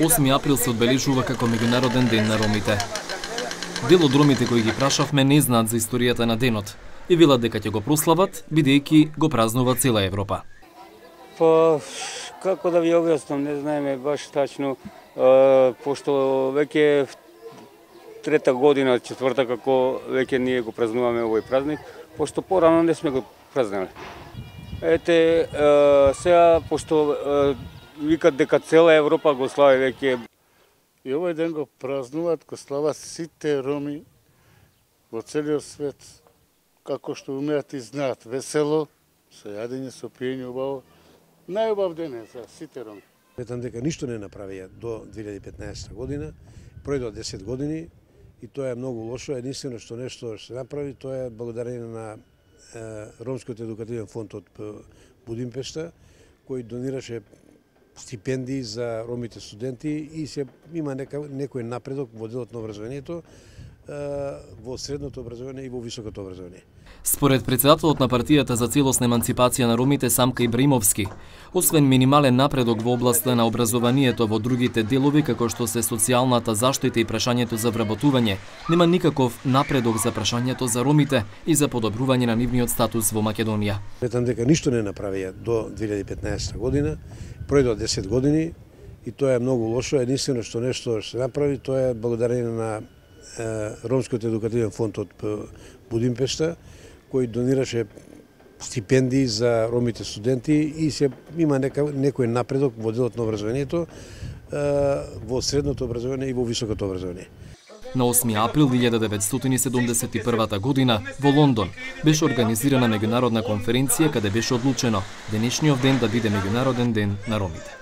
Осми април се одбележува како меѓународен ден на ромите. Дел од ромите кои ги прашавме не знаат за историјата на денот и велат дека ќе го прослават, бидејќи го празнува цела Европа. Па, како да ви објаснам, не знаеме баш тачно, пошто веќе трета година, четврта како веќе ние го празнуваме овој празник, пошто порано не сме го празнувале. Ете, сега, пошто викат дека цела Европа го слави веќе. И овој ден го празнуваат, го слават сите роми во целиот свет, како што умеат и знаат, весело, со јадење, со пиење убаво. Најубав ден е за сите роми. Сметам дека ништо не направија до 2015 година, пројдоа 10 години и тоа е многу лошо. Единствено што нешто се направи, тоа е благодарение на Ромскиот едукативен фонд од Будимпешта, кој донираше стипендии за ромите студенти и се има некој напредок во делот на образованието, во средното образование и во високото образование. Според председателот на партијата за целосна еманципација на ромите Самка Ибраимовски, освен минимален напредок во областа на образованието во другите делови како што се социјалната заштита и прашањето за вработување, нема никаков напредок за прашањето за ромите и за подобрување на нивниот статус во Македонија. Сметам дека ништо не направија до 2015 година, пројдоа 10 години и тоа е многу лошо. Единствено што нешто се направи, тоа е благодарение на Ромскиот едукативен фонд од Будимпешта, кој донираше стипендии за ромите студенти и се има некој напредок во делот на образованието, во средното образование и во високото образование. На 8 април 1971 година во Лондон беше организирана меѓународна конференција каде беше одлучено денешниот ден да биде меѓународен ден на ромите.